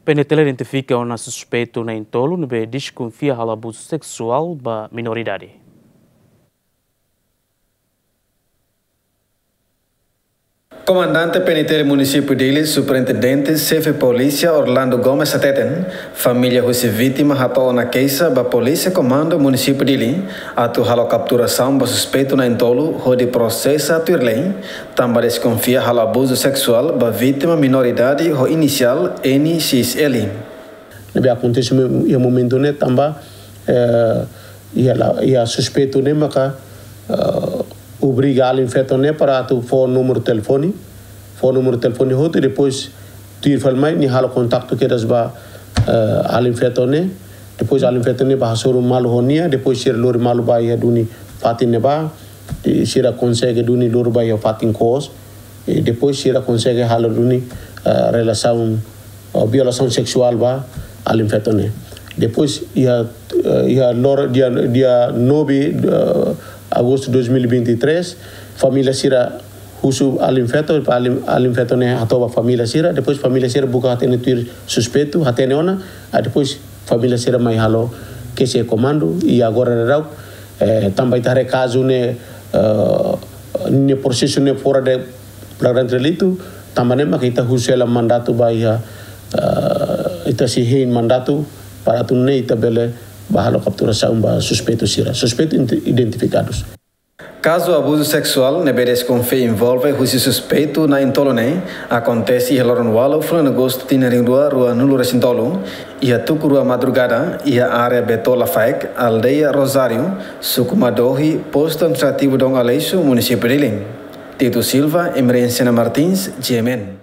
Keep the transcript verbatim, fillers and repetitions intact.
PNTL identifika ona suspeitu na'in-tolu ne'ebé deskonfia halo abuzu seksuál ba minoridade. Komandante PNTL Munisípiu Dili, Superintendente Xefe Polísia Orlando Gomes hateten, família husi vítima hato'o ona keixa ba Polísia Komandu Munisípiu Dili atu halo kapturasaun ba suspeitu na'in-tolu hodi prosesa tuir lei, tanba deskonfia halo abuzu seksuál ba vítima minoridade ho inisiál N X L. Ne'ebé akontese iha momentu ne'e tanba, eh, iha la, iha suspeitu ne'e maka, eh, obriga alin-feto ne'e para atu fó númeru telefone, fó númeru telefone hotu, depois tuir fali mai nia halo kontaktu kedas ba, eh, alin-feto ne'e, depois alin-feto ne'e bá hasoru malu ho nia, depois sira lori malu ba iha duni fatin ne'ebá, i sira konsege duni lori ba iha fatin koos, i depois sira konsege halo duni, eh, relasaun, eh, violasaun seksuál ba alin-feto ne'e. Depois iha, eh, iha loron dia, dia nove, eh, agostu dois mil e vinte e três, família sira husu alin-feto, alin, alin-feto ne'e hato'o ba família sira, depois família sira buka hatene tuir suspeitu, hatene ona, ah, depois família sira mai halo keixa iha komandu, i agora daudaun, eh, tanba ita haree kazu ne'e, eh, nia prosesu ne'e fora de flagrante delitu, tanba ne'e maka ita husu hela mandatu ba iha, eh, ita sei hein mandatu para atu nune'e ita bele bá halo kapturasaun ba suspeitu sira. Suspeitu inte-, identifikadus. Kazu abuzu seksuál ne'ebé deskonfia envolve husi suspeitu na'in-tolu ne'e akontese iha loron ualu fulan Agostu tinan rihun rua ruanulu-resin-tolu, iha tuku rua madrugada, iha área Betola Faek, aldeia Rosário, suku Madohi, postu administrativu Dom Aleixo, munisípiu Dili. Tito Silva, Emerenciana Martins, G M N.